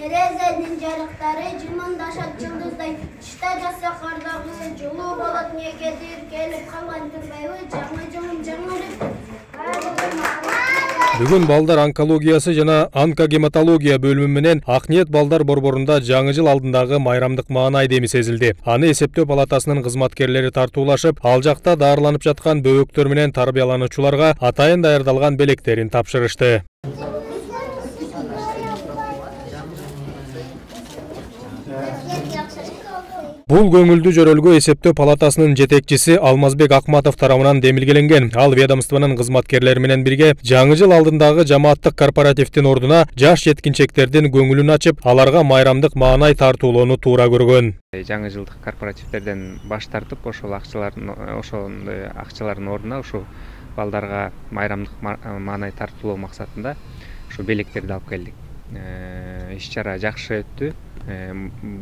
терезенин жарыктары жымыңдашат жылдыздай. Тышта жатса кардагысы жылуу болот негедир келип калган турбайбы жаңы жылым жаңырып. Бүгүн балдар онкологиясы жана онкогематология бөлүмү менен Акниет балдар борборунда жаңы жыл алдындагы майрамдык маанай деми сезилди. Аны эсептөө палатасынын кызматкерлери тартуулашып, ал жакта даарыланып жаткан бөбөктөр менен тарбиялануучуларга атайын даярдалган белектерин тапшырышты. Бул көңүлдүү жөрөлгө эсептөө палатасынын жетекчиси Алмазбек Акматов тарабынан демилгеленген. Ал ведомствонун кызматкерлери менен бирге жаңы жыл алдындагы жамааттык корпоративдин ордуна жаш жеткинчектердин көңүлүн ачып, аларга майрамдык маанай тартуулоону туура көргөн. Жаңы жылдык корпоративдерден баш тартып, ошол акчалардын ордуна ушу балдарга майрамдык маанай тартуулоо максатында ушу белектерди алып келдик. Иш-чара жакшы өттү.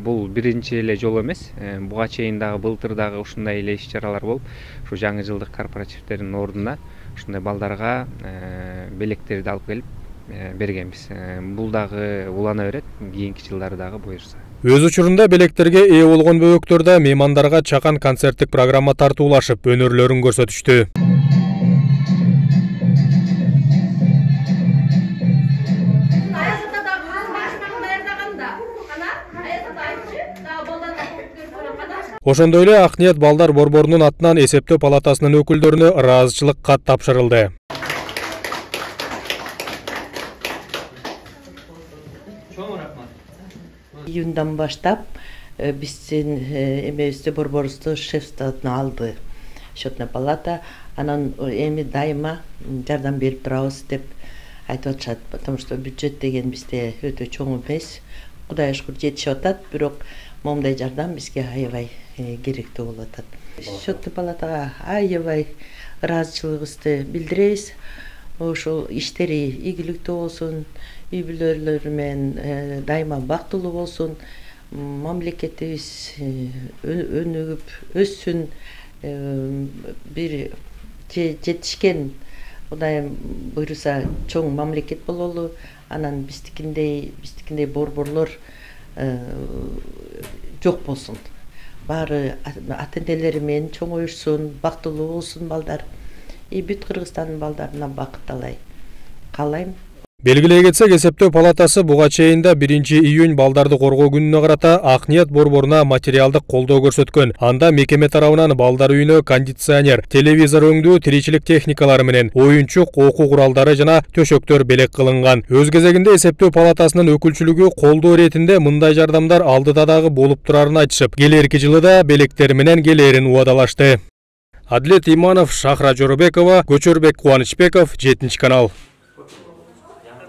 Бул биринчи эле жолу эмес. Буга чейин дагы былтыр дагы ушундай эле иш-чаралар болуп, ушу жаңы жылдык корпоративдердин ордуна ушундай балдарга белектерди алып келип бергенбиз. Бул дагы улана берет, кийинки жылдары дагы буюрса. Өз учурунда белектерге ээ болгон бөбөктөр да меймандарга чакан концерттик программа тартуулашып, өнөрлөрүн көрсөтүштү. Ошондой эле Акниет балдар борборунун атынан эсептөө палатасынын өкүлдөрүнө ыраазычылык кат тапшырылды. Июндан баштап биздин эмебизди борборубузду шефствосуна алды счетная палата. Анан эми дайыма жардам берип турабыз деп айтып атышат, потому что бюджет деген бизде өтө чоң эмес. Кудайга шүгүр жетишип атат, бирок момундай жардам бизге аябай керектүү болуп атат. Счетный палатага аябай ыраазычылыгыбызды билдиребиз. Ошол иштери ийгиликтүү болсун, үй бүлөлөр менен дайыма бактылуу болсун, мамлекетибиз өнүгүп өссүн, бир жетишкен, Кудайым буйруса чоң мамлекет бололу. Анан биздикиндей борборлор жок болсун. Баары ата-энелери менен чоңоюшсун, бактылуу болсун балдар. Бүт Кыргызстандын балдарына бакыт каалайм. Белгилей кетсек, эсептөө палатасы буга чейин 1-июнь балдарды коргоо күнүнө карата Акниет борборуна материалдык колдоо көрсөткөн. Анда мекеме тарабынан балдар үйүнө кондиционер, телевизор өңдүү тиричилик техникалары менен оюнчук, окуу куралдары жана төшөктөр белек кылынган. Өз кезегинде эсептөө палатасынын өкүлчүлүгү колдоо иретинде мындай жардамдар алдыда дагы болуп турарын айтышып, келерки жылы да белектер менен келээрин убадалашты. Адлет Иманов, Шахра Жорубекова, Көчөрбек Кубанычбеков, 7 канал.